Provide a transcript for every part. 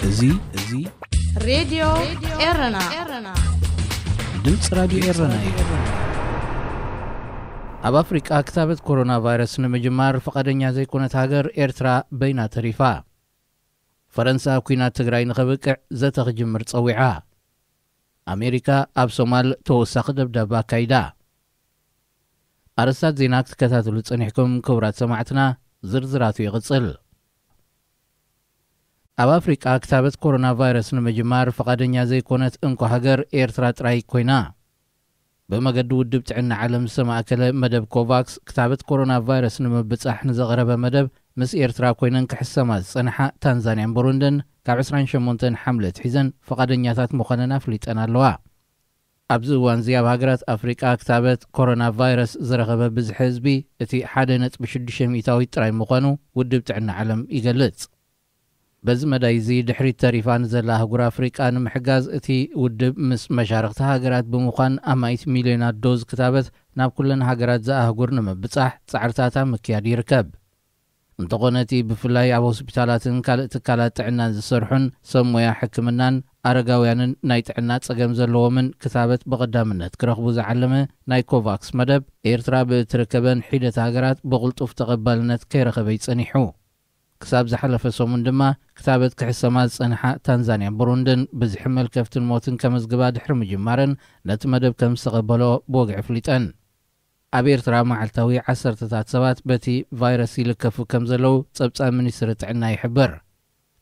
እዚ እዚ ሬድዮ ኤረና ድምፂ ራድዮ ኤረና እዩ። ኣብ ኣፍሪቃ ክታበት ኮሮና ቫይረስ ንምጅማር ፍቓደኛ ዘይኮነት ሃገር ኤርትራ በይና ተሪፋ። ፈረንሳ ኲናት ትግራይ ንኸብቅዕ ዘተ ክጅምር ጸዊዓ። ኣሜሪካ ኣብ ሶማል ተወሳኺ ደብዳብ ኣካይዳ። ኣርእስታት ዜና ክትከታተሉ ጸኒሕኩም ክቡራት ሰማዕትና፣ ዝርዝራቱ ይቕጽል። ኣብ ኣፍሪቃ ክታበት ኮሮና ቫይረስ ንምጅማር ፍቓደኛ ዘይኮነት እንኮ ሃገር ኤርትራ ጥራይ ኮይና። ብመገዲ ውድብ ጥዕና ዓለም ዝተማእከለ መደብ ኮቫክስ ክታበት ኮሮና ቫይረስ ንምብጻሕ ንዘቕረበ መደብ ምስ ኤርትራ ኮይነን ክሕሰማ ዝጸንሓ ታንዛንያን ብሩንድን ካብ ዕስራን ሸሞንተን ሓምለ ኣትሒዘን ፍቓደኛታት ምዃነን ኣፍሊጠን ኣለዋ። ኣብዚ እዋን እዚ ኣብ ሃገራት ኣፍሪቃ ክታበት ኮሮና ቫይረስ ዝረኸበ ብዝሒ ህዝቢ እቲ ሓደ ነጥቢ ሽዱሽተ ሚእታዊት ጥራይ ምዃኑ ውድብ ጥዕና ዓለም ይገልጽ። በዚ መዳይ እዚ ድሕሪት ተሪፋ ንዘላ ኣህጉር ኣፍሪቃ ንምሕጋዝ እቲ ውድብ ምስ መሻርኽቲ ሃገራት ብምዃን ኣማኢት ሚልዮናት ዶዝ ክታበት ናብ ኩለን ሃገራት ዘኣህጉር ንምብጻሕ ጻዕርታት ኣብ ምክያድ ይርከብ። እንተኾነ እቲ ብፍላይ ኣብ ሆስፒታላትን ካልእ ትካላት ጥዕናን ዝሰርሑን ሰብ ሞያ ሕክምናን ኣረጋውያንን ናይ ጥዕና ጸገም ዘለዎምን ክታበት ብቐዳምነት ክረኽቡ ዝዓለመ ናይ ኮቫክስ መደብ ኤርትራ ብእትርከበን ሒደት ሃገራት ብቕልጡፍ ተቐባልነት ከይረኸበ ይጸኒሑ። ክሳብ ዝሓለፈ ሰሙን ድማ ክታበት ክሕሰማ ዝጸንሓ ታንዛንያን ብሩንድን ብዝሒ መልከፍትን ሞትን ከመዝግባ ድሕሪ ምጅማረን ነቲ መደብ ከም ዝተቐበሎ ብወግዒ ኣፍሊጠን። ኣብ ኤርትራ መዓልታዊ ዓሰርተታት ሰባት በቲ ቫይረስ ይልከፉ ከም ዘለዉ ጸብጻብ ሚኒስትሪ ጥዕና ይሕብር።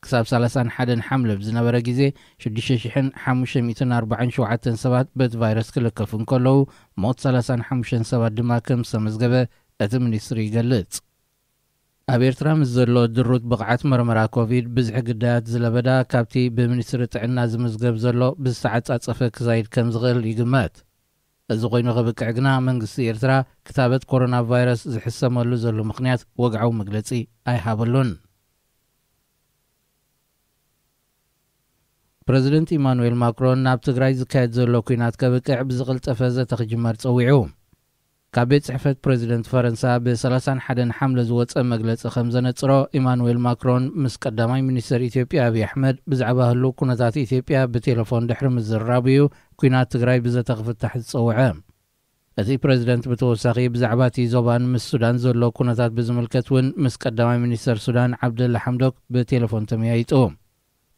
ክሳብ ሰላሳን ሓደን ሓምለ ብዝነበረ ግዜ ሽዱሽተ ሽሕን ሓሙሽተ ሚእትን ኣርባዓን ሸውዓተን ሰባት በቲ ቫይረስ ክልከፉ እንከለዉ ሞት ሰላሳን ሓሙሽተን ሰባት ድማ ከም ዝተመዝገበ እቲ ሚኒስትሪ ይገልጽ። ኣብ ኤርትራ ምስ ዘሎ ድሩት ብቕዓት መርመራ ኮቪድ ብዝሒ ግዳያት ዝለበዳ ካብቲ ብሚኒስትሪ ጥዕና ዝምዝገብ ዘሎ ብዝተዓጻጸፈ ክዛይድ ከም ዝኽእል ይግመት። እዚ ኮይኑ ክብቅዕ ግና መንግስቲ ኤርትራ ክታበት ኮሮና ቫይረስ ዝሕሰመሉ ዘሎ ምኽንያት ወግዓዊ መግለጺ ኣይሃበሉን። ፕረዚደንት ኢማኑኤል ማክሮን ናብ ትግራይ ዝካየድ ዘሎ ኲናት ከብቅዕ ብዝቕልጠፈ ዘተ ክጅመር ጸዊዑ። ካብ ቤት ጽሕፈት ፕረዚደንት ፈረንሳ ብ ሰላሳን ሓደን ሓምለ ዝወጸ መግለጺ ከም ዘነጽሮ፣ ኢማኑኤል ማክሮን ምስ ቀዳማይ ሚኒስተር ኢትዮጵያ ኣብይ ኣሕመድ ብዛዕባ ህሉው ኩነታት ኢትዮጵያ ብቴሌፎን ድሕሪ ምዝርራቡ እዩ ኲናት ትግራይ ብዘተ ክፍታሕ ዝጸውዐ። እቲ ፕረዚደንት ብተወሳኺ ብዛዕባ እቲ ዞባን ምስ ሱዳን ዘሎ ኩነታት ብዝምልከት እውን ምስ ቀዳማይ ሚኒስተር ሱዳን ዓብደላ ሓምዶክ ብቴሌፎን ተመያይጡ።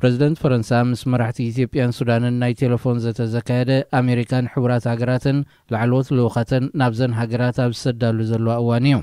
ፕረዚደንት ፈረንሳ ምስ መራሕቲ ኢትዮጵያን ሱዳንን ናይ ቴሌፎን ዘተ ዘካየደ ኣሜሪካን ሕቡራት ሃገራትን ላዕለዎት ልኡኻተን ናብዘን ሃገራት ኣብ ዝሰዳሉ ዘለዋ እዋን እዩ።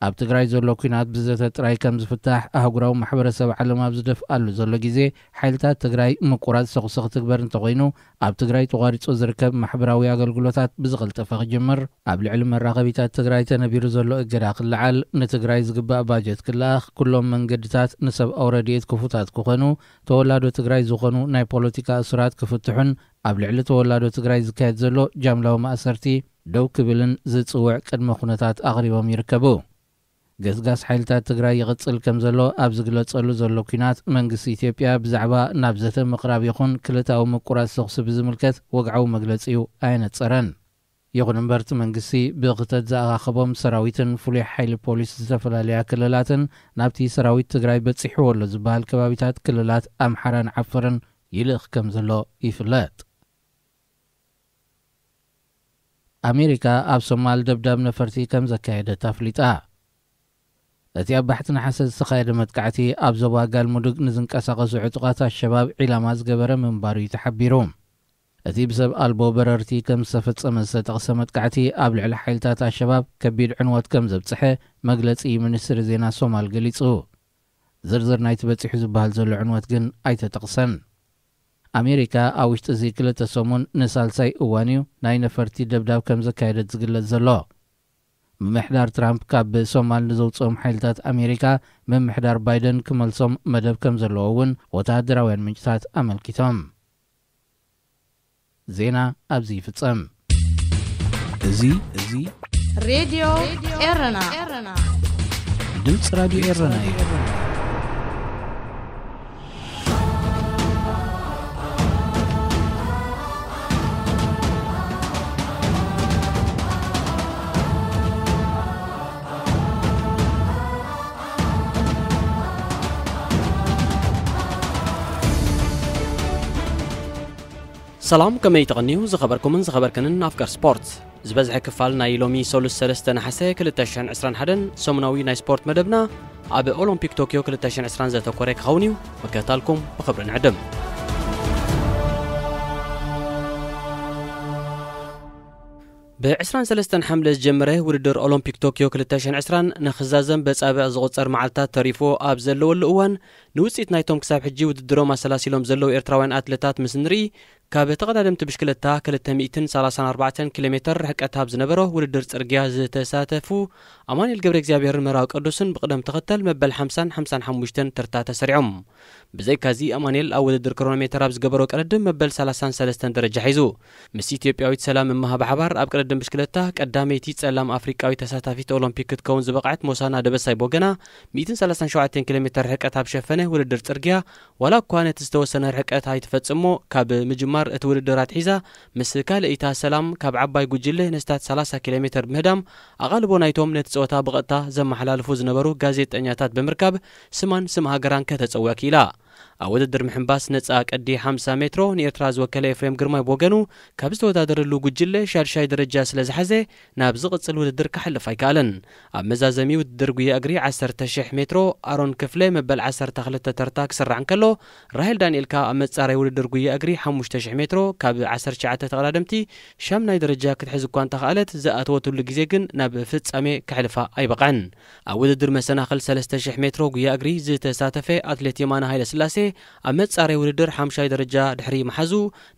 ኣብ ትግራይ ዘሎ ኲናት ብዘተ ጥራይ ከም ዝፍታሕ ኣህጉራዊ ማሕበረሰብ ዓለም ኣብ ዝደፍኣሉ ዘሎ ግዜ፣ ሓይልታት ትግራይ ምቁራጽ ተኹሲ ክትግበር እንተኾይኑ፣ ኣብ ትግራይ ተቋሪጹ ዝርከብ ማሕበራዊ ኣገልግሎታት ብዝቐልጠፈ ክጅምር፣ ኣብ ልዕሊ መራኸቢታት ትግራይ ተነቢሩ ዘሎ እገዳ ክለዓል፣ ንትግራይ ዝግባእ ባጀት ክለኣኽ፣ ኩሎም መንገድታት ንሰብኣዊ ረድኤት ክፉታት ክኾኑ፣ ተወላዶ ትግራይ ዝኾኑ ናይ ፖለቲካ እሱራት ክፍትሑን ኣብ ልዕሊ ተወላዶ ትግራይ ዝካየድ ዘሎ ጃምላዊ ማእሰርቲ ደው ክብልን ዝጽውዕ ቅድመ ኩነታት ኣቕሪቦም ይርከቡ። ገስጋስ ሓይልታት ትግራይ ይቕጽል ከም ዘሎ ኣብ ዝግለጸሉ ዘሎ ኲናት፣ መንግስቲ ኢትዮጵያ ብዛዕባ ናብ ዘተ ምቕራብ ይኹን ክልታዊ ምቁራጽ ተኹሲ ብዝምልከት ወግዓዊ መግለጺኡ ኣየነጸረን። ይኹን እምበር፣ እቲ መንግስቲ ብኽተት ዝኣኻኸቦም ሰራዊትን ፍሉይ ሓይሊ ፖሊስ ዝተፈላለያ ክልላትን ናብቲ ሰራዊት ትግራይ በጺሕዎ ኣሎ ዝበሃል ከባቢታት ክልላት ኣምሓራን ዓፈርን ይልእኽ ከም ዘሎ ይፍለጥ። ኣሜሪካ ኣብ ሶማል ደብዳብ ነፈርቲ ከም ዘካየደት ኣፍሊጣ። እቲ ኣብ ባሕቲ ነሓሰ ዝተኻየደ መጥቃዕቲ፣ ኣብ ዞባ ጋልሙዱግ ንዝንቀሳቐሱ ዕጡቓት ኣሸባብ ዒላማ ዝገበረ ምንባሩ እዩ ተሓቢሩ። እቲ ብሰብ ኣልቦ በረርቲ ከም ዝተፈጸመ ዝተጠቕሰ መጥቃዕቲ፣ ኣብ ልዕሊ ሓይልታት ኣሸባብ ከቢድ ዕንወት ከም ዘብጽሐ መግለጺ ሚኒስትሪ ዜና ሶማል ገሊጹ። ዝርዝር ናይቲ በጺሑ ዝበሃል ዘሎ ዕንወት ግን ኣይተጠቕሰን። ኣሜሪካ ኣብ ውሽጢ እዚ ክልተ ሰሙን ንሳልሳይ እዋን እዩ ናይ ነፈርቲ ደብዳብ ከም ዘካየደት ዝግለጽ ዘሎ። ምምሕዳር ትራምፕ ካብ ሶማል ንዘውፅኦም ሓይልታት ኣሜሪካ ምምሕዳር ባይደን ክመልሶም መደብ ከም ዘለዎ እውን ወተሃደራውያን ምንጭታት ኣመልኪቶም። ዜና ኣብዚ ይፍጸም። እዚ እዚ ሬድዮ ኤረና ድምፂ ራድዮ ኤረና እዩ። ሰላም፣ ከመይ ተቐንዩ ዝኸበርኩምን ዝኸበርክንን ኣፍቀር ስፖርት። ዝበዝሐ ክፋል ናይ ሎሚ ሰሉስ ሰለስተ ነሓሰ ክልተ ሽሕን ዕስራን ሓደን ሰሙናዊ ናይ ስፖርት መደብና ኣብ ኦሎምፒክ ቶክዮ ክልተ ሽሕን ዕስራን ዘተኮረ ክኸውን እዩ። ምክትታልኩም ብኽብሪ ንዕድም። ብ ዕስራን ሰለስተን ሓምለ ዝጀመረ ውድድር ኦሎምፒክ ቶክዮ ክልተ ሽሕን ዕስራን ንኽዛዘም በጻብዕ ዝቑጸር መዓልታት ተሪፎ ኣብ ዘለወሉ እዋን፣ ንውጽኢት ናይቶም ክሳብ ሕጂ ውድድሮም ኣሰላሲሎም ዘለዉ ኤርትራውያን ኣትለታት ምስ ንርኢ፣ ካብ ተቐዳደምቲ ብሽክለታ ክልተ ሚእትን ሰላሳን ኣርባዕተን ኪሎ ሜተር ርሕቀት ኣብ ዝነበሮ ውድድር ጽርግያ ዝተሳተፉ ኣማኑኤል ገብረ እግዚኣብሔርን ምህራዊ ቅዱስን ብቕደም ተኸተል መበል ሓምሳን ሓምሳን ሓሙሽተን ተርታ ተሰሪዖም። ብዘይካዚ ኣማኑኤል ኣብ ውድድር ክሮኖሜተር ኣብ ዝገበሮ ቅድድም መበል ሰላሳን ሰለስተን ደረጃ ሒዙ። ምስ ኢትዮጵያዊት ሰላም እመሃ ብሓባር ኣብ ቅድድም ብሽክለታ ቀዳመይቲ ጸላም ኣፍሪቃዊት ተሳታፊት ኦሎምፒክ ክትከውን ዝበቕዐት ሞሳና ደበሳይ ቦገና ሚእትን ሰላሳን ሸውዓተን ኪሎ ሜተር ርሕቀት ኣብ ሸፈነ ውድድር ጽርግያ ዋላ እኳ ነቲ ዝተወሰነ ርሕቀት ኣይትፈጽሞ፣ ካብ ምጅማር እቲ ውድድር ኣትሒዛ ምስ ካልኣይታ ሰላም ካብ ዓባይ ጉጅለ ንስታት ሰላሳ ኪሎ ሜተር ብምህዳም ኣቓልቦ ናይቶም ነቲ ጸወታ ብቐጥታ ዘመሓላልፉ ዝነበሩ ጋዜጠኛታት ብምርካብ ስማን ስም ሃገራን ከተጸውዕ ክኢላ። ኣብ ውድድር ምሕንባስ ነጻ ቅዲ ሓምሳ ሜትሮ ንኤርትራ ዝወከለ ኤፍሬም ግርማይ ብወገኑ ካብ ዝተወዳደረሉ ጉጅለ ሻድሻይ ደረጃ ስለ ዝሓዘ ናብ ዝቕጽል ውድድር ክሓልፍ ኣይከኣለን። ኣብ መዛዘሚ ውድድር ጉያ እግሪ ዓሰርተ ሽሕ ሜትሮ ኣሮን ክፍለ መበል ዓሰርተ ክልተ ተርታ ክስራዕ እንከሎ፣ ራሄል ዳንኤል ከኣ ኣብ መጻረይ ውድድር ጉያ እግሪ ሓሙሽተ ሽሕ ሜትሮ ካብ ዓሰርተ ትሽዓተ ተቐዳደምቲ ሻምናይ ደረጃ ክትሕዝ እኳ እንተኸኣለት፣ ዝኣተወትሉ ግዜ ግን ናብ ፍጻሜ ከሕልፋ ኣይበቕዐን። ኣብ ውድድር መሰናኽል ሰለስተ ሽሕ ሜትሮ ጉያ እግሪ ዝተሳተፈ ኣትሌት የማነ ሃይለስላሴ ኣብ መጻረይ ውድድር ሓምሻይ ደረጃ ድሕሪ ምሓዙ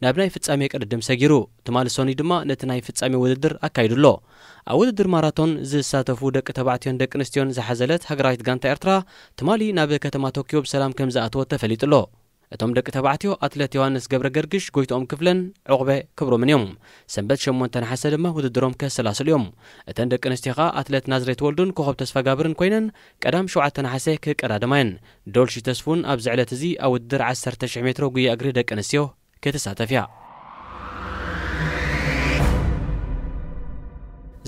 ናብ ናይ ፍጻሜ ቅድድም ሰጊሩ። ትማሊ ሰኑይ ድማ ነቲ ናይ ፍጻሜ ውድድር ኣካይዱ ኣሎ። ኣብ ውድድር ማራቶን ዝሳተፉ ደቂ ተባዕትዮን ደቂ ኣንስትዮን ዝሓዘለት ሃገራዊት ጋንታ ኤርትራ ትማሊ ናብ ከተማ ቶክዮ ብሰላም ከም ዝኣተወት ተፈሊጡ ኣሎ። እቶም ደቂ ተባዕትዮ ኣትሌት ዮሃንስ ገብረ ገርግሽ፣ ጎይትኦም ክፍለን ዑቕበ ክብሮምን እዮም። ሰንበት ሸሞንተ ነሓሰ ድማ ውድድሮም ከሰላስሉ እዮም። እተን ደቂ ኣንስትዮ ኸኣ ኣትሌት ናዝሬት ወልዱን ኮኸብ ተስፋጋብርን ኮይነን ቀዳም ሸውዓተ ነሓሰ ክቀዳደማ እየን። ዶልሺ ተስፉን ኣብዚ ዕለት እዚ ኣብ ውድድር ዓሰርተ ሽሕ ሜትሮ ጉያ እግሪ ደቂ ኣንስትዮ ክትሳተፍ እያ።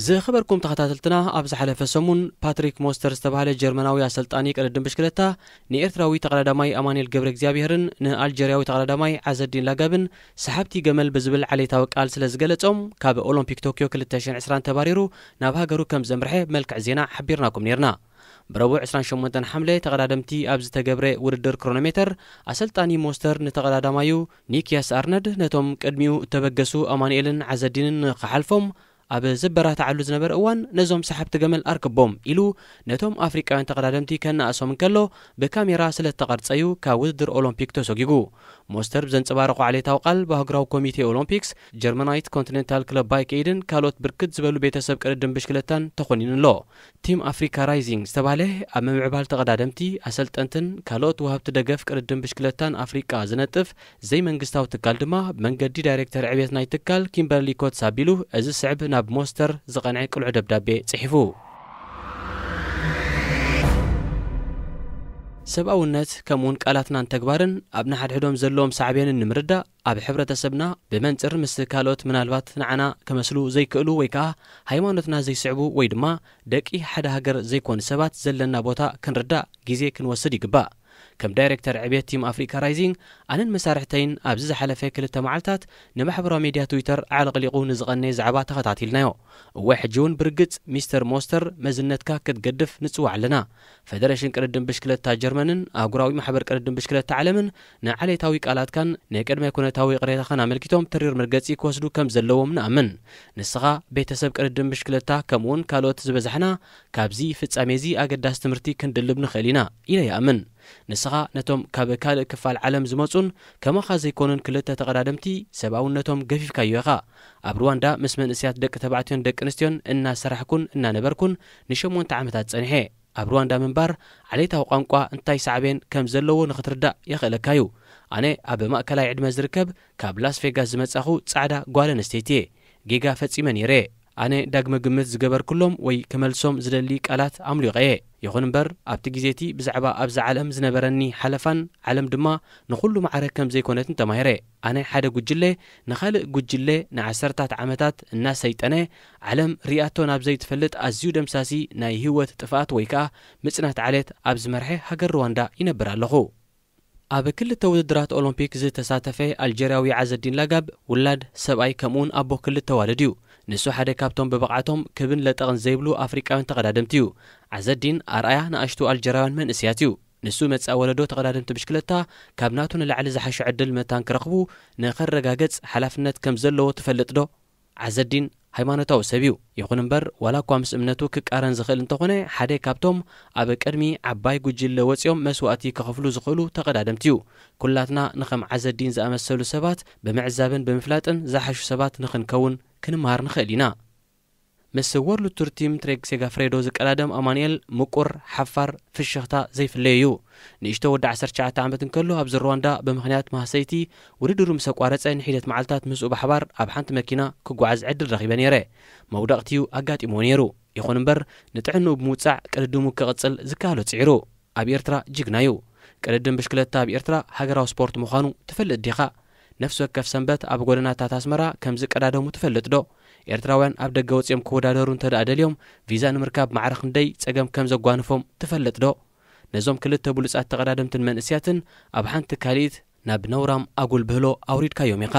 ዝኸበርኩም ተኸታተልትና፣ ኣብ ዝሓለፈ ሰሙን ፓትሪክ ሞስተር ዝተባህለ ጀርመናዊ ኣሰልጣኒ ቅድድም ብሽክለታ ንኤርትራዊ ተቐዳዳማይ ኣማኑኤል ገብረ እግዚኣብሔርን ንኣልጀርያዊ ተቐዳዳማይ ዓዘዲን ላጋብን ሰሓብቲ ገመል ብዝብል ዓሌታዊ ቃል ስለ ዝገለጾም፣ ካብ ኦሎምፒክ ቶክዮ ክልተ ሽሕን ዕስራን ተባሪሩ ናብ ሃገሩ ከም ዘምርሐ ብመልክዕ ዜና ሓቢርናኩም ኔርና። ብረቡዕ ዕስራን ሸሞንተን ሓምለ ተቐዳደምቲ ኣብ ዝተገብረ ውድድር ክሮኖሜተር፣ ኣሰልጣኒ ሞስተር ንተቐዳዳማዩ ኒክያስ ኣርነድ ነቶም ቅድሚኡ እተበገሱ ኣማኑኤልን ዓዘዲንን ንኽሓልፎም ኣብ ዝበራትዓሉ ዝነበረ እዋን፣ ነዞም ሰሓብቲ ገመል ኣርክቦም ኢሉ ነቶም ኣፍሪቃውያን ተቐዳደምቲ ከነኣሶም እንከሎ፣ ብካሜራ ስለ እተቐርጸዩ ካብ ውድድር ኦሎምፒክ ተሰጒጉ። ሞስተር ብዘንጸባረቖ ዓሌታዊ ቃል፣ ብኣህጉራዊ ኮሚቴ ኦሎምፒክስ፣ ጀርመናዊት ኮንቲኔንታል ክለብ ባይክ ኤድን ካልኦት ብርክት ዝበሉ ቤተሰብ ቅድድም ብሽክለታን ተኾኒኑ ኣሎ። ቲም ኣፍሪካ ራይዚንግ ዝተባህለ ኣብ ምምዕባል ተቐዳደምቲ፣ ኣሰልጠንትን ካልኦት ወሃብቲ ደገፍ ቅድድም ብሽክለታን ኣፍሪቃ ዝነጥፍ ዘይመንግስታዊ ትካል ድማ፣ ብመንገዲ ዳይሬክተር ዕብየት ናይ ትካል ኪምበርሊ ኮትስ ኣቢሉ፣ እዚ ስዕብ ናብ ሞስተር ዝቐንዐ ቅሉዕ ደብዳቤ ጽሒፉ። ሰብኣውነት፣ ከምኡውን ቃላትናን ተግባርን ኣብ ንሓድሕዶም ዘለዎም ሳዕቤንን ንምርዳእ፣ ኣብ ሕብረተሰብና ብመንጽር ምስ ካልኦት ምናልባት ንዓና ክመስሉ ዘይክእሉ ወይ ከኣ ሃይማኖትና ዘይስዕቡ ወይ ድማ ደቂ ሓደ ሃገር ዘይኮኑ ሰባት ዘለና ቦታ ክንርዳእ ግዜ ክንወስድ ይግባእ። ከም ዳይሬክተር ዕብየት ቲም ኣፍሪካ ራይዚንግ፣ ኣነን መሳርሕተይን ኣብዚ ዝሓለፈ ክልተ መዓልታት ንማሕበራዊ ሜድያ ትዊተር ኣዕለቕሊቑ ንዝቐነየ ዛዕባ ተኸታቲልናዮ። እወ፣ ሕጂ እውን ብርግጽ ሚስተር ሞስተር መዝነትካ ክትገድፍ ንጽውዕ ኣለና። ፈደረሽን ቅድድም ብሽክለታ ጀርመንን ኣህጉራዊ ማሕበር ቅድድም ብሽክለታ ዓለምን ንዓሌታዊ ቃላትካን ንቅድመ ኩነታዊ ይቕሬታኻን ኣመልኪቶም ተሪር መርገጺ ክወስዱ ከም ዘለዎም ንኣምን። ንስኻ፣ ቤተሰብ ቅድድም ብሽክለታ፣ ከምኡውን ካልኦት ዝበዛሕና ካብዚ ፍጻሜ እዚ ኣገዳሲ ትምህርቲ ክንድልብ ንኽእል ኢና ኢለ ይኣምን። ንስኻ ነቶም ካብ ካልእ ክፋል ዓለም ዝመጹን ከማኻ ዘይኮኑን ክልተ ተቐዳደምቲ ሰብኣውነቶም ገፊፍካዮ ኢኻ። ኣብ ሩዋንዳ ምስ መንእሰያት ደቂ ተባዕትዮን ደቂ ኣንስትዮን እናሰራሕኩን እናነበርኩን ንሸሞንተ ዓመታት ጸኒሐ። ኣብ ሩዋንዳ ምንባር ዓሌታዊ ቋንቋ እንታይ ሳዕቤን ከም ዘለዎ ንኽትርዳእ የኽእለካ እዩ። ኣነ ኣብ ማእከላይ ዕድመ ዝርከብ ካብ ላስ ቬጋስ ዝመጻኹ ጻዕዳ ጓል ኣንስተይቲ እየ። ጌጋ ፈጺመ ነይረ። ኣነ ዳግመ ግምት ዝገበርኩሎም ወይ ክመልሶም ዝደሊ ቃላት ኣምሊቐ እየ። ይኹን እምበር፣ ኣብቲ ግዜ እቲ ብዛዕባ ኣብዛ ዓለም ዝነበረኒ ሓለፋን ዓለም ድማ ንኹሉ ማዕረ ከም ዘይኮነትን ተማሂረ። ኣነ ሓደ ጉጅለ ንኻልእ ጉጅለ ንዓሰርታት ዓመታት እናሰይጠነ፣ ዓለም ሪኣቶ ናብ ዘይትፈልጥ ኣዝዩ ደምሳሲ ናይ ህይወት ጥፍኣት ወይ ከኣ ምጽናት ዓሌት ኣብ ዝመርሐ ሃገር ሩዋንዳ ይነብር ኣለኹ። ኣብ ክልተ ውድድራት ኦሎምፒክ ዝተሳተፈ ኣልጀርያዊ ዓዘዲን ላጋብ ውላድ ሰብኣይ ከምኡውን ኣቦ ክልተ ዋልድ እዩ። ንሱ ሓደ ካብቶም ብብቕዓቶም ክብን ለጠቕን ዘይብሉ ኣፍሪቃውያን ተቐዳደምቲ እዩ። ዓዘዲን ኣርኣያ ንኣሽቱ ኣልጀርያውያን መንእስያት እዩ። ንሱ መጻኢ ወለዶ ተቐዳደምቲ ብሽክለታ ካብ ናቱ ንላዕሊ ዝሓሸ ዕድል መታን ክረኽቡ ንኸረጋገጽ ሓላፍነት ከም ዘለዎ ትፈልጥ ዶ? ዓዘዲን ሃይማኖታዊ ሰብ እዩ። ይኹን እምበር ዋላ እኳ ምስ እምነቱ ክቃረን ዝኽእል እንተኾነ ሓደ ካብቶም ኣብ ቅድሚ ዓባይ ጉጅለ ወጺኦም መስዋእቲ ክኸፍሉ ዝኽእሉ ተቐዳደምቲ እዩ። ኩላትና ንኸም ዓዘዲን ዝኣመሰሉ ሰባት ብምዕዛብን ብምፍላጥን ዝሓሹ ሰባት ንኽንከውን ክንመሃር ንኽእል ኢና። ምስ ወርልድ ቱር ቲም ትሬክ ሴጋፍሬዶ ዝቀዳደም ኣማኑኤል ምቁር ሓፋር ፍሽኽታ ዘይፍለዮ እዩ። ንእሽቶ ወዲ ዓሰርተ ትሽዓተ ዓመት እንከሎ ኣብዚ ሩዋንዳ ብምኽንያት ማህሰይቲ ውድድሩ ምስ ኣቋረጸ ንሒደት መዓልታት ምስኡ ብሓባር ኣብ ሓንቲ መኪና ክጓዓዝ ዕድል ረኺበ ነይረ። መውደቕቲ እዩ ኣጋጢምዎ ነይሩ። ይኹን እምበር ንጥዕንኡ ብምውጻዕ ቅድድሙ ክቕጽል ዝከኣሎ ጽዒሩ። ኣብ ኤርትራ ጅግና እዩ። ቅድድም ብሽክለታ ኣብ ኤርትራ ሃገራዊ ስፖርት ምዃኑ ትፈልጥ ዲኻ? ነፍሲ ወከፍ ሰንበት ኣብ ጎደናታት ኣስመራ ከም ዝቀዳደሙ ትፈልጥ ዶ? ኤርትራውያን ኣብ ደገ ወጺኦም ክወዳደሩ እንተ ደኣ ደልዮም ቪዛ ንምርካብ ማዕረ ክንደይ ጸገም ከም ዘጓንፎም ትፈልጥ ዶ? ነዞም ክልተ ብሉጻት ተቐዳደምትን መንእስያትን ኣብ ሓንቲ ካልኢት ናብ ነውራም ኣጉል ብህሎ ኣውሪድካዮም ኢኻ።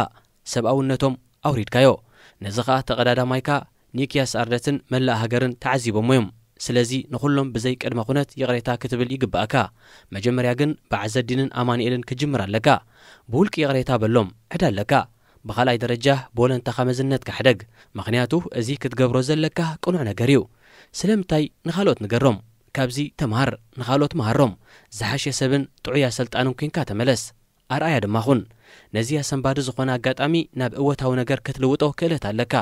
ሰብኣውነቶም ኣውሪድካዮ። ነዚ ኸኣ ተቐዳዳማይካ ኒክያስ ኣርደትን መላእ ሃገርን ተዓዚቦሞ እዮም። ስለዚ ንኹሎም ብዘይ ቅድመ ኩነት ይቕሬታ ክትብል ይግባእካ። መጀመርያ ግን ብዓዘዲንን ኣማኑኤልን ክጅምር ኣለካ። ብውልቂ ይቕሬታ በሎም፣ ዕዳ ኣለካ። ብኻልኣይ ደረጃ ብወለንታኻ መዝነትካ ሕደግ። ምኽንያቱ እዚ ክትገብሮ ዘለካ ቅኑዕ ነገር እዩ። ስለምንታይ ንኻልኦት ንገሮም? ካብዚ ተምሃር፣ ንኻልኦት መሃሮም። ዝሓሸ ሰብን ጥዑይ ኣሰልጣንን ኲንካ ተመለስ። ኣርኣያ ድማ ኹን። ነዚ ኣሰንባዲ ዝኾነ ኣጋጣሚ ናብ እወታዊ ነገር ክትልውጦ ክእለት ኣለካ።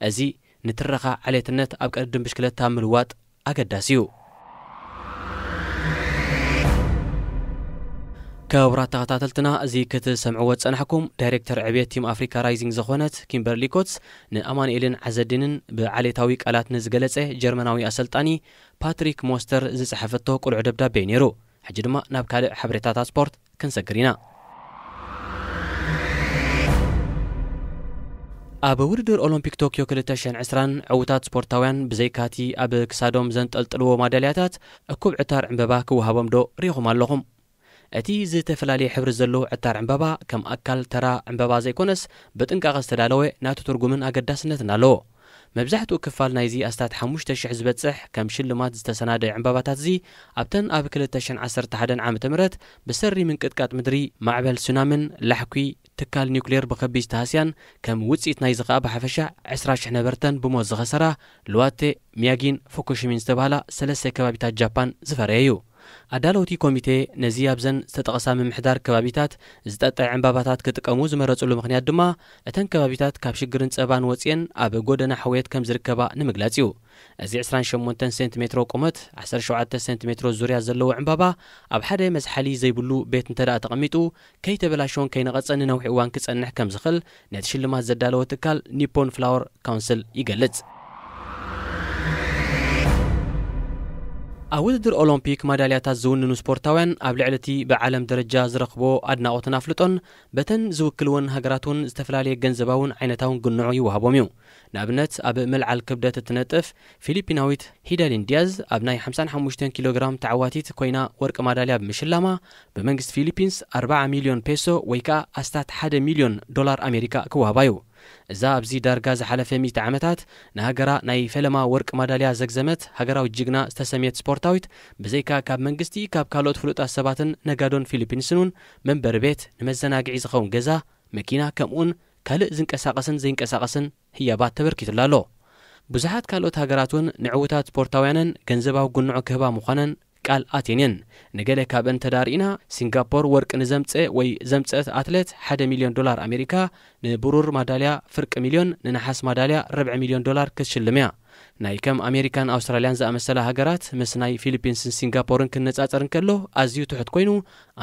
እዚ ንትረኻ ዓሌትነት ኣብ ቅድድም ብሽክለታ ምልዋጥ ኣገዳሲ እዩ። ክቡራት ተኸታተልትና፣ እዚ ክትሰምዕዎ ዝጸናሕኩም ዳይሬክተር ዕብየት ቲም ኣፍሪካ ራይዚንግ ዝኾነት ኪምበርሊ ኮትስ ንኣማኑኤልን ዓዘዲንን ብዓሌታዊ ቃላት ንዝገለጸ ጀርመናዊ ኣሰልጣኒ ፓትሪክ ሞስተር ዝጸሓፈቶ ቅሉዕ ደብዳቤ እዩ ነይሩ። ሕጂ ድማ ናብ ካልእ ሓበሬታታት ስፖርት ክንሰግር ኢና። ኣብ ውድድር ኦሎምፒክ ቶክዮ ክልተ ሽሕን ዕስራን ዕዉታት ስፖርታውያን ብዘይካቲ ኣብ ክሳዶም ዘንጠልጥልዎ ማዳልያታት እኩብ ዕታር ዕምበባ ክወሃቦም ዶ ርኢኹም ኣለኹም? እቲ ዝተፈላለየ ሕብሪ ዘለዎ ዕታር ዕምበባ ከም ኣካል ተራ ዕምበባ ዘይኮነስ ብጥንቃቐ ዝተዳለወ ናቱ ትርጉምን ኣገዳስነትን ኣለዎ። መብዛሕትኡ ክፋል ናይዚ ኣስታት ሓሙሽተ ሽሕ ዝበጽሕ ከም ሽልማት ዝተሰናደየ ዕምባባታት እዚ ኣብተን ኣብ ክልተ ሽሕን ዓሰርተ ሓደን ዓመተ ምህረት ብሰሪ ምንቅጥቃጥ ምድሪ፣ ማዕበል ሱናምን ላሕኲ ትካል ኒውክሌር ብኸቢድ ዝተሃስያን ከም ውጽኢት ናይዚ ኸኣ ብሓፈሻ ዕስራ ሽሕ ነበርተን ብሞት ዝኸሰራ ሉዋቴ፣ ሚያጊን ፉኩሺሚን ዝተባህላ ሰለስተ ከባቢታት ጃፓን ዝፈረየ እዩ። ኣዳለውቲ ኮሚቴ ነዚ ኣብዘን ዝተጠቕሳ ምምሕዳር ከባቢታት ዝጠጠዐ ዕምባባታት ክጥቀሙ ዝመረጽሉ ምኽንያት ድማ እተን ከባቢታት ካብ ሽግርን ጸባን ወጺኤን ኣብ ጎደና ሕውየት ከም ዝርከባ ንምግላጽ እዩ። እዚ ዕስራን ሸሞንተን ሴንቲሜትሮ ቁመት፣ ዓሰርተ ሸውዓተ ሴንቲሜትሮ ዙርያ ዘለዎ ዕምባባ ኣብ ሓደ መዝሓሊ ዘይብሉ ቤት እንተ ደኣ ተቐሚጡ ከይተበላሸወን ከይነቐጸን ንነዊሕ እዋን ክጸንሕ ከም ዝኽእል ነቲ ሽልማት ዘዳለወ ትካል ኒፖን ፍላወር ካውንስል ይገልጽ። ኣብ ውድድር ኦሎምፒክ ማዳልያታት ዝውንኑ ስፖርታውያን ኣብ ልዕሊ እቲ ብዓለም ደረጃ ዝረኽብዎ ኣድናቖትን ኣፍልጦን በተን ዝውክልወን ሃገራት እውን ዝተፈላለየ ገንዘባውን ዓይነታውን ግንዖ ይወሃቦም እዩ። ንኣብነት ኣብ ምልዓል ክብደት እትነጥፍ ፊሊፒናዊት ሂደሊን ዲያዝ ኣብ ናይ ሓምሳን ሓሙሽተን ኪሎ ግራም ተዓዋቲት ኮይና ወርቂ ማዳልያ ብምሽላማ ብመንግስቲ ፊሊፒንስ ኣርባዓ ሚልዮን ፔሶ ወይ ከኣ ኣስታት ሓደ ሚልዮን ዶላር ኣሜሪካ ክወሃባ እዩ። እዛ ኣብዚ ዳርጋ ዝሓለፈ ሚእቲ ዓመታት ንሃገራ ናይ ፈለማ ወርቂ ማዳልያ ዘግዘመት ሃገራዊት ጅግና ዝተሰምየት ስፖርታዊት ብዘይካ ካብ መንግስቲ ካብ ካልኦት ፍሉጣት ሰባትን ነጋዶን ፊሊፒንስን እውን መንበሪ ቤት፣ ንመዘናግዒ ዝኸውን ገዛ፣ መኪና ከምኡውን ካልእ ዝንቀሳቐስን ዘይንቀሳቐስን ህያባት ተበርኪቱላ ኣሎ። ብዙሓት ካልኦት ሃገራት እውን ንዕዉታት ስፖርታውያነን ገንዘባዊ ግንዖ ክህባ ምዃነን ቃል ኣትየን እየን። ንገለ ካብአን እንተ ደኣ ርኢና፣ ሲንጋፖር ወርቂ ንዘምጸ ወይ ዘምጸት ኣትሌት ሓደ ሚልዮን ዶላር ኣሜሪካ፣ ንብሩር ማዳልያ ፍርቂ ሚልዮን፣ ንነሓስ ማዳልያ ርብዒ ሚልዮን ዶላር ክትሽልም እያ። ናይ ከም ኣሜሪካን ኣውስትራልያን ዝኣመሰላ ሃገራት ምስ ናይ ፊሊፒንስን ሲንጋፖርን ክነጻጸር እንከሎ ኣዝዩ ትሑት ኮይኑ፣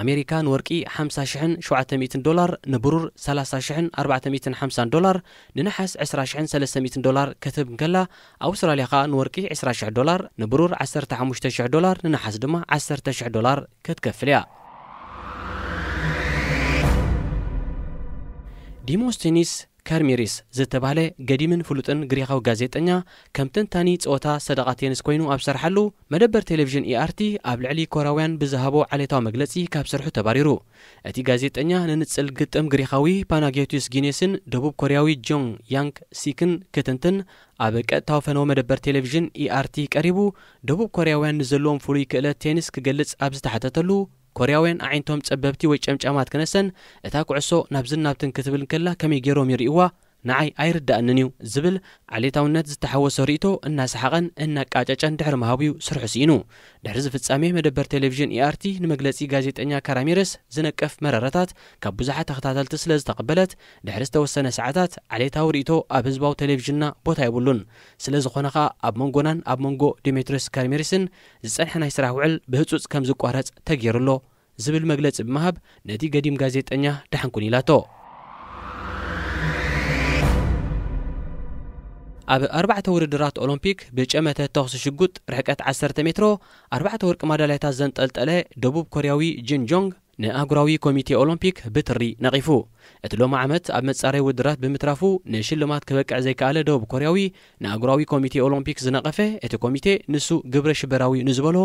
ኣሜሪካ ንወርቂ ሓምሳ ሽሕን ሸውዓተ ሚእትን ዶላር፣ ንብሩር ሰላሳ ሽሕን ኣርባዕተ ሚእትን ሓምሳን ዶላር፣ ንነሓስ ዕስራ ሽሕን ሰለስተ ሚእትን ዶላር ክትህብ እንከላ፣ ኣውስትራልያ ከኣ ንወርቂ ዕስራ ሽሕ ዶላር፣ ንብሩር ዓሰርተ ሓሙሽተ ሽሕ ዶላር፣ ንነሓስ ድማ ዓሰርተ ሽሕ ዶላር ክትከፍል እያ። ዲሞስቴኒስ ካርሚሪስ ዝተባህለ ገዲምን ፍሉጥን ግሪኻዊ ጋዜጠኛ፣ ከም ተንታኒ ጸወታ ሰደቓ ቴኒስ ኮይኑ ኣብ ዝሰርሓሉ፣ መደበር ቴሌቪዥን ኢኣርቲ ኣብ ልዕሊ ኮርያውያን ብዝሃቦ ዓሌታዊ መግለጺ ካብ ስርሑ ተባሪሩ። እቲ ጋዜጠኛ ንንጽል ግጥም ግሪኻዊ ፓናጊዮቲስ ጊኔስን ደቡብ ኮርያዊ ጆንግ ያንግ ሲክን ክትንትን ኣብ ቀጥታዊ ፈነወ መደበር ቴሌቪዥን ኢኣርቲ ቀሪቡ፣ ደቡብ ኮርያውያን ንዘለዎም ፍሉይ ክእለት ቴኒስ ክገልጽ ኣብ ዝተሓተተሉ፣ ኮርያውያን ኣዒንቶም ጸበብቲ ወይ ጨምጫማት ክነሰን፣ እታ ኩዕሶ ናብዝን ናብትን ክትብል እንከላ ከመይ ገይሮም ይርእይዋ? ንዓይ ኣይርዳእንን እዩ ዝብል ዓሌታውነት ዝተሓወሶ ርእይቶ እናሰሓቐን እናቃጨጨን ድሕሪ ምሃቡ'ዩ ስርሑ ስኢኑ። ድሕሪ እዚ ፍጻሜ መደበር ቴሌቪዥን ኢኣርቲ ንመግለጺ ጋዜጠኛ ካራሚረስ ዝነቅፍ መረረታት ካብ ብዙሓት ተኸታተልቲ ስለ ዝተቐበለት፣ ድሕሪ ዝተወሰነ ሰዓታት ዓሌታዊ ርእይቶ ኣብ ህዝባዊ ቴሌቪዥንና ቦታ የብሉን። ስለ ዝኾነ ኸኣ ኣብ መንጎናን ኣብ መንጎ ዲሜትሪስ ካርሜሪስን ዝጸንሐ ናይ ስራሕ ውዕል ብህጹጽ ከም ዝቋረጽ ተገይሩ ኣሎ ዝብል መግለጺ ብምሃብ ነቲ ገዲም ጋዜጠኛ ደሓን ኩን ኢላቶ። ኣብ ኣርባዕተ ውድድራት ኦሎምፒክ ብጨመተ ተኹሲ ሽጉጥ ርሕቀት ዓሰርተ ሜትሮ ኣርባዕተ ወርቂ ማዳልያታት ዘንጠልጠለ ደቡብ ኮርያዊ ጂን ጆንግ ንኣህጉራዊ ኮሚቴ ኦሎምፒክ ብትሪ ነቒፉ። እቲ ሎሚ ዓመት ኣብ መጻረይ ውድድራት ብምትራፉ ንሽልማት ክበቅዕ ዘይከኣለ ደቡብ ኮርያዊ ንኣህጉራዊ ኮሚቴ ኦሎምፒክ ዝነቐፈ እቲ ኮሚቴ፣ ንሱ ግብረ ሽበራዊ ንዝበሎ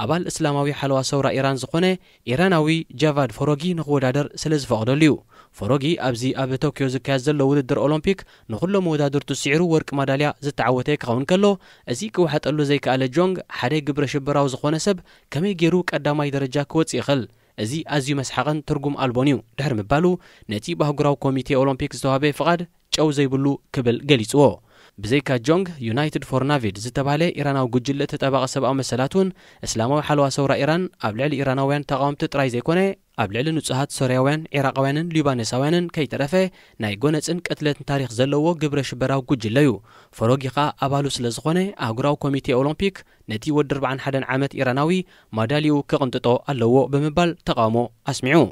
ኣባል እስላማዊ ሓለዋ ሰውራ ኢራን ዝኾነ ኢራናዊ ጃቫድ ፎሮጊ ንክወዳደር ስለ ዝፈቐደሉ እዩ። ፎሮጊ ኣብዚ ኣብ ቶክዮ ዝካየድ ዘሎ ውድድር ኦሎምፒክ ንኹሎም መወዳድርቱ ስዒሩ ወርቂ ማዳልያ ዝተዓወተ ክኸውን ከሎ፣ እዚ ክወሓጠሉ ዘይከኣለ ጆንግ ሓደ ግብረ ሽበራዊ ዝኾነ ሰብ ከመይ ገይሩ ቀዳማይ ደረጃ ክወጽእ ይኽእል? እዚ ኣዝዩ መስሓቕን ትርጉም ኣልቦን እዩ ድሕሪ ምባሉ፣ ነቲ ብኣህጉራዊ ኮሚቴ ኦሎምፒክ ዝተዋህበ ፍቓድ ጨው ዘይብሉ ክብል ገሊጽዎ። ብዘይካ ጆንግ፣ ዩናይትድ ፎር ናቪድ ዝተባህለ ኢራናዊ ጉጅለ ተጣባቒ ሰብኣዊ መሰላት እውን፣ እስላማዊ ሓለዋ ሰውራ ኢራን ኣብ ልዕሊ ኢራናውያን ተቓወምቲ ጥራይ ዘይኮነ፣ ኣብ ልዕሊ ንጹሃት ሶርያውያን፣ ዒራቓውያንን ሊባኖሳውያንን ከይተረፈ ናይ ጎነጽን ቅትለትን ታሪኽ ዘለዎ ግብረ ሽበራዊ ጉጅለ እዩ። ፈሮጊ ኸኣ ኣባሉ ስለ ዝኾነ፣ ኣህጉራዊ ኮሚቴ ኦሎምፒክ ነቲ ወዲ ኣርባዓን ሓደን ዓመት ኢራናዊ ማዳልይኡ ክቕንጥጦ ኣለዎ ብምባል ተቓውሞ ኣስሚዑ።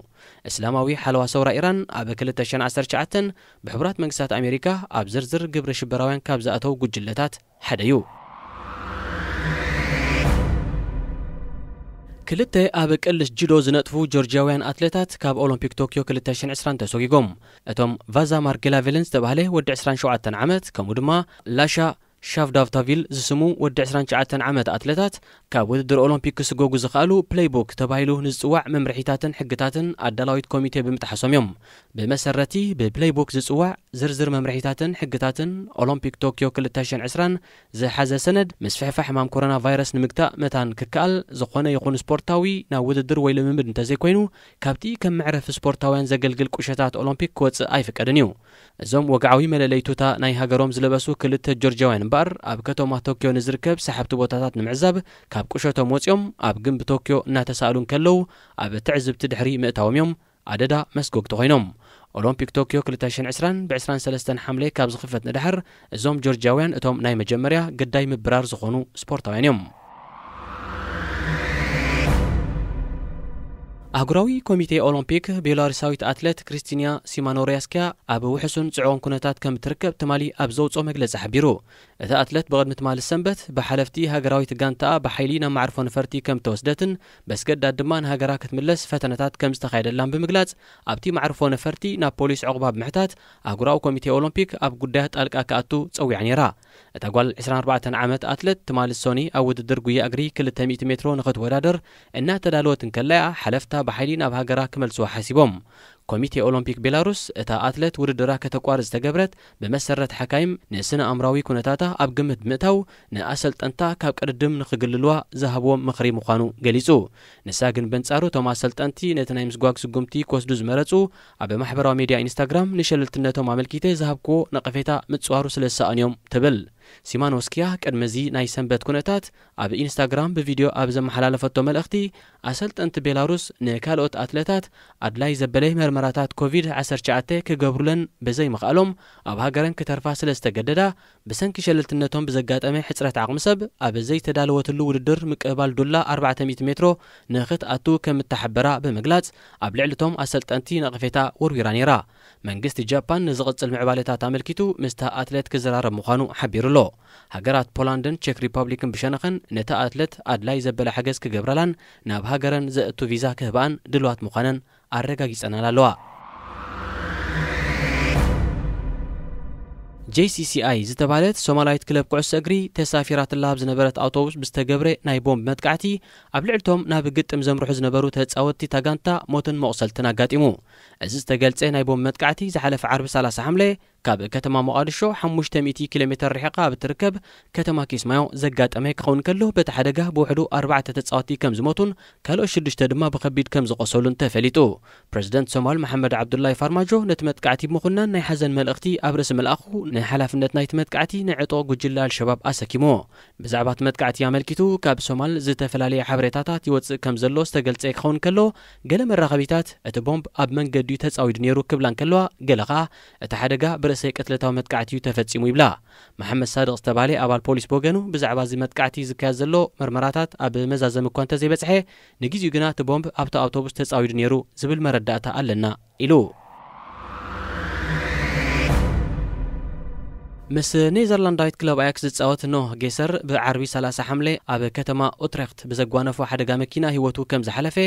እስላማዊ ሓለዋ ሰውራ ኢራን ኣብ ክልተ ሽሕን ዓሰርተ ትሽዓተን ብሕቡራት መንግስታት ኣሜሪካ ኣብ ዝርዝር ግብረ ሽበራውያን ካብ ዝኣተው ጉጅለታት ሓደ እዩ። ክልተ ኣብ ቅልስ ጁዶ ዝነጥፉ ጆርጂያውያን ኣትሌታት ካብ ኦሎምፒክ ቶክዮ ክልተ ሽሕን ዕስራን ተሰጒጎም። እቶም ቫዛ ማርጌላቬልን ዝተባህለ ወዲ ዕስራን ሸውዓተን ዓመት፣ ከምኡ ድማ ላሻ ሻቭዳቭታቪል ዝስሙ ወዲ ዕስራን ትሽዓተን ዓመት ኣትሌታት ካብ ውድድር ኦሎምፒክ ክስጎጉ ዝኸኣሉ ፕሌይቡክ ተባሂሉ ንዝጽዋዕ መምርሒታትን ሕግታትን ኣዳላዊት ኮሚቴ ብምጥሓሶም እዮም። ብመሰረቲ ብፕሌይቡክ ዝጽዋዕ ዝርዝር መምርሒታትን ሕግታትን ኦሎምፒክ ቶክዮ ክልተ ሽሕን ዕስራን ዝሓዘ ሰነድ፣ ምስፍሕፋሕ ሕማም ኮሮና ቫይረስ ንምግታእ መታን ክከኣል፣ ዝኾነ ይኹን ስፖርታዊ ናብ ውድድር ወይ ልምምድ እንተዘይኮይኑ፣ ካብቲ ከም መዕረፊ ስፖርታውያን ዘገልግል ቁሸታት ኦሎምፒክ ክወጽእ ኣይፍቀድን እዩ። እዞም ወግዓዊ መለለይ ቱታ ናይ ሃገሮም ዝለበሱ ክልተ ጆርጂያውያን እምበኣር፣ ኣብ ከተማ ቶክዮ ንዝርከብ ሰሓብቲ ቦታታት ንምዕዛብ ካብ ቁሸቶም ወጺኦም ኣብ ግንቢ ቶክዮ እናተሳእሉ እንከለዉ፣ ኣብ ትዕዝብቲ ድሕሪ ምእታዎም እዮም ኣደዳ መስጎግቲ ኮይኖም። ኦሎምፒክ ቶክዮ ክልተ ሽሕን ዕስራን ብዕስራን ሰለስተን ሓምለ ካብ ዝኽፈት ንድሓር፣ እዞም ጆርጂያውያን እቶም ናይ መጀመርያ ግዳይ ምብራር ዝኾኑ ስፖርታውያን እዮም። ኣህጉራዊ ኮሚቴ ኦሎምፒክ፣ ቤላሩሳዊት ኣትሌት ክሪስቲንያ ሲማኖሪያስኪያ ኣብ ውሕሱን ጽዑቕን ኩነታት ከም ትርከብ ትማሊ ኣብ ዘውጽኦ መግለጺ ሓቢሩ። እታ ኣትሌት ብቕድሚ ትማሊ ሰንበት ብሓለፍቲ ሃገራዊት ጋንታኣ ብሓይሊ ናብ መዕርፎ ነፈርቲ ከም ተወስደትን በስገዳድ ድማ ንሃገራ ክትምለስ ፈተነታት ከም ዝተኻየደላን ብምግላጽ፣ ኣብቲ መዕርፎ ነፈርቲ ናብ ፖሊስ ዕቑባ ብምሕታት ኣህጉራዊ ኮሚቴ ኦሎምፒክ ኣብ ጉዳያ ጣልቃ ክኣቱ ጸዊዓ ነይራ። እታ ጓል ዕስራን ኣርባዕተን ዓመት ኣትሌት ትማሊ ሶኒ ኣብ ውድድር ጉያ እግሪ ክልተ ሚእቲ ሜትሮ ንኽትወዳደር እናተዳለወት እንከላ እያ ሓለፍታ ብሓይሊ ናብ ሃገራ ክመልስዋ ሓሲቦም። ኮሚቴ ኦሎምፒክ ቤላሩስ እታ ኣትሌት ውድድራ ከተቋርጽ ዝተገብረት ብመሰረት ሓካይም ንስነ ኣእምራዊ ኩነታታ ኣብ ግምት ብምእታው ንኣሰልጠንታ ካብ ቅድድም ንኽግልልዋ ዝሃብዎም ምኽሪ ምዃኑ ገሊጹ። ንሳ ግን በንጻሩ እቶም ኣሰልጠንቲ ነቲ ናይ ምስጓግ ስጉምቲ ክወስዱ ዝመረጹ ኣብ ማሕበራዊ ሜድያ ኢንስታግራም ንሸለልትነቶም ኣመልኪተ ዝሃብክዎ ነቐፌታ ምጽዋሩ ስለ ዝሰኣኑ እዮም ትብል። ሲማኖስኪያ ቅድሚ እዚ ናይ ሰንበት ኩነታት ኣብ ኢንስታግራም ብቪድዮ ኣብ ዘመሓላለፈቶ መልእኽቲ፣ ኣሰልጠንቲ ቤላሩስ ንካልኦት ኣትለታት ኣድላይ ዘበለ መርመራታት ኮቪድ ዓሰርተ ትሽዓተ ክገብሩለን ብዘይምኽኣሎም ኣብ ሃገረን ክተርፋ ስለ ዝተገደዳ፣ ብሰንኪ ሸለልትነቶም ብዘጋጠመ ሕጽረት ዓቕሚ ሰብ ኣብ ዘይተዳለወትሉ ውድድር ምቅብባል ዱላ ኣርባዕተ ሚእቲ ሜትሮ ንኽትኣቱ ከም እተሓበራ ብምግላጽ፣ ኣብ ልዕሊ እቶም ኣሰልጠንቲ ነቐፌታ ወርዊራ ነይራ። መንግስቲ ጃፓን ንዝቕጽል ምዕባለታት ኣመልኪቱ ምስታ ኣትሌት ክዘራረብ ምዃኑ ሓቢሩ ኣሎ። ሃገራት ፖላንድን ቼክ ሪፐብሊክን ብሸነኸን ነታ ኣትሌት ኣድላይ ዘበለ ሓገዝ ክገብራላን ናብ ሃገረን ዘእቱ ቪዛ ክህብኣን ድልዋት ምዃነን ኣረጋጊጸናል ኣለዋ። ጄ ሲ ሲ ኣይ ዝተባህለት ሶማላዊት ክለብ ኩዕሶ እግሪ ተሳፊራትላ ኣብ ዝነበረት ኣውቶቡስ ብዝተገብረ ናይ ቦምብ መጥቃዕቲ ኣብ ልዕልቶም ናብ ግጥም ዘምርሑ ዝነበሩ ተጻወትቲ ታጋንታ ሞትን መቑሰልትን ኣጋጢሙ። እዚ ዝተገልጸ ናይ ቦምብ መጥቃዕቲ ዝሓለፈ ዓርቢ ሰላሳ ሓምለ ካብ ከተማ ሞቓድሾ ሓሙሽተ ሚእቲ ኪሎ ሜትር ርሒቓ ኣብ እትርከብ ከተማ ኪስማዮ ዘጋጠመ ክኸውን ከሎ፣ በቲ ሓደጋ ብውሕዱ ኣርባዕተ ተጻወትቲ ከም ዝሞቱን ካልኦት ሽዱሽተ ድማ ብኸቢድ ከም ዝቖሰሉን ተፈሊጡ። ፕረዚደንት ሶማል መሓመድ ዓብዱላይ ፋርማጆ ነቲ መጥቃዕቲ ብምኹናን ናይ ሓዘን መልእኽቲ ኣብ ርእሲ ምልኣኹ፣ ንሓላፍነት ናይቲ መጥቃዕቲ ንዕጡቕ ጉጅለ ኣልሸባብ ኣሰኪምዎ። ብዛዕባ እቲ መጥቃዕቲ ኣመልኪቱ ካብ ሶማል ዝተፈላለየ ሓበሬታታት ይወጽእ ከም ዘሎ ዝተገልጸ ክኸውን ከሎ፣ ገለ መራኸቢታት እቲ ቦምብ ኣብ መንገዲ እዩ ተጻዊዱ ነይሩ ክብላ እንከለዋ፣ ገለ ኸኣ እቲ ሓደጋ ብርእሰ ቅትለታዊ መጥቃዕቲ እዩ ተፈጺሙ ይብላ። መሓመድ ሳድቕ ዝተባህለ ኣባል ፖሊስ ብወገኑ፣ ብዛዕባ እዚ መጥቃዕቲ ዝካየድ ዘሎ መርመራታት ኣብ መዛዘሚ እኳ እንተዘይበጽሐ፣ ንግዜኡ ግና እቲ ቦምብ ኣብቲ ኣውቶቡስ ተጻዊዱ ነይሩ ዝብል መረዳእታ ኣለና ኢሉ። ምስ ኔዘርላንዳዊት ክለብ ኣያክስ ዝጻወት ኖህ ጌሰር ብዓርቢ ሰላሳ ሓምለ ኣብ ከተማ ኡትሬክት ብዘጓነፎ ሓደጋ መኪና ህይወቱ ከም ዝሓለፈ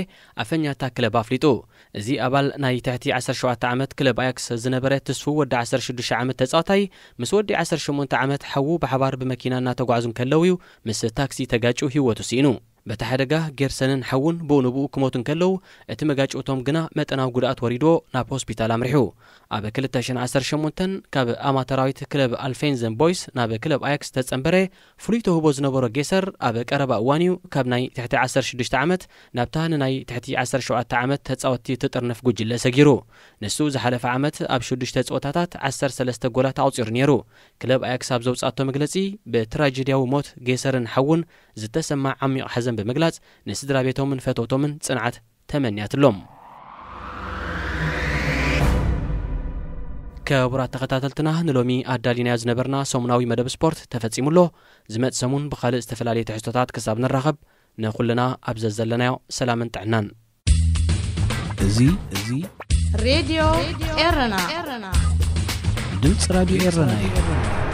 ኣፈኛ እታ ክለብ ኣፍሊጡ። እዚ ኣባል ናይ ትሕቲ ዓሰርተ ሸውዓተ ዓመት ክለብ ኣያክስ ዝነበረ ትስፉው ወዲ ዓሰርተ ሽዱሽተ ዓመት ተጻዋታይ፣ ምስ ወዲ ዓሰርተ ሸሞንተ ዓመት ሓዉ ብሓባር ብመኪና እናተጓዕዙ እንከለዉ እዩ ምስ ታክሲ ተጋጭዩ ህይወቱ ስኢኑ። በቲ ሓደጋ ጌርሰንን ሓዉን ብኡ ንብኡ ክሞቱ እንከለዉ፣ እቲ መጋጭውቶም ግና መጠናዊ ጉድኣት ወሪድዎ ናብ ሆስፒታል ኣምሪሑ። ኣብ ክልተ ሽሕን ዓሰርተ ሸሞንተን ካብ ኣማተራዊት ክለብ ኣልፌንዘን ቦይስ ናብ ክለብ ኣያክስ ተጸንበረ። ፍሉይ ተውህቦ ዝነበሮ ጌሰር ኣብ ቀረባ እዋን እዩ ካብ ናይ ትሕቲ ዓሰርተ ሽዱሽተ ዓመት ናብታ ንናይ ትሕቲ ዓሰርተ ሸውዓተ ዓመት ተጻወትቲ እትጥርንፍ ጉጅለ ሰጊሩ። ንሱ ዝሓለፈ ዓመት ኣብ ሽዱሽተ ጸወታታት ዓሰርተ ሰለስተ ጎላት ኣቑጺሩ ነይሩ። ክለብ ኣያክስ ኣብ ዘውጻእቶ መግለጺ፣ ብትራጀድያዊ ሞት ጌሰርን ሓዉን ዝተሰማዕ ዓሚቕ ሓዘን ብምግላጽ፣ ንስድራ ቤቶምን ፈተውቶምን ጽንዓት ተመንያትሎም። ክቡራት ተኸታተልትና፣ ንሎሚ ኣዳሊናዮ ዝነበርና ሰሙናዊ መደብ ስፖርት ተፈጺሙ ኣሎ። ዝመጽእ ሰሙን ብኻልእ ዝተፈላለየ ትሕዝቶታት ክሳብ ንራኸብ፣ ንኹልና ኣብ ዘዘለናዮ ሰላምን ጥዕናን። እዚ፣ እዚ ሬድዮ ኤረና። ድምፂ ራዲዮ ኤረና እዩ።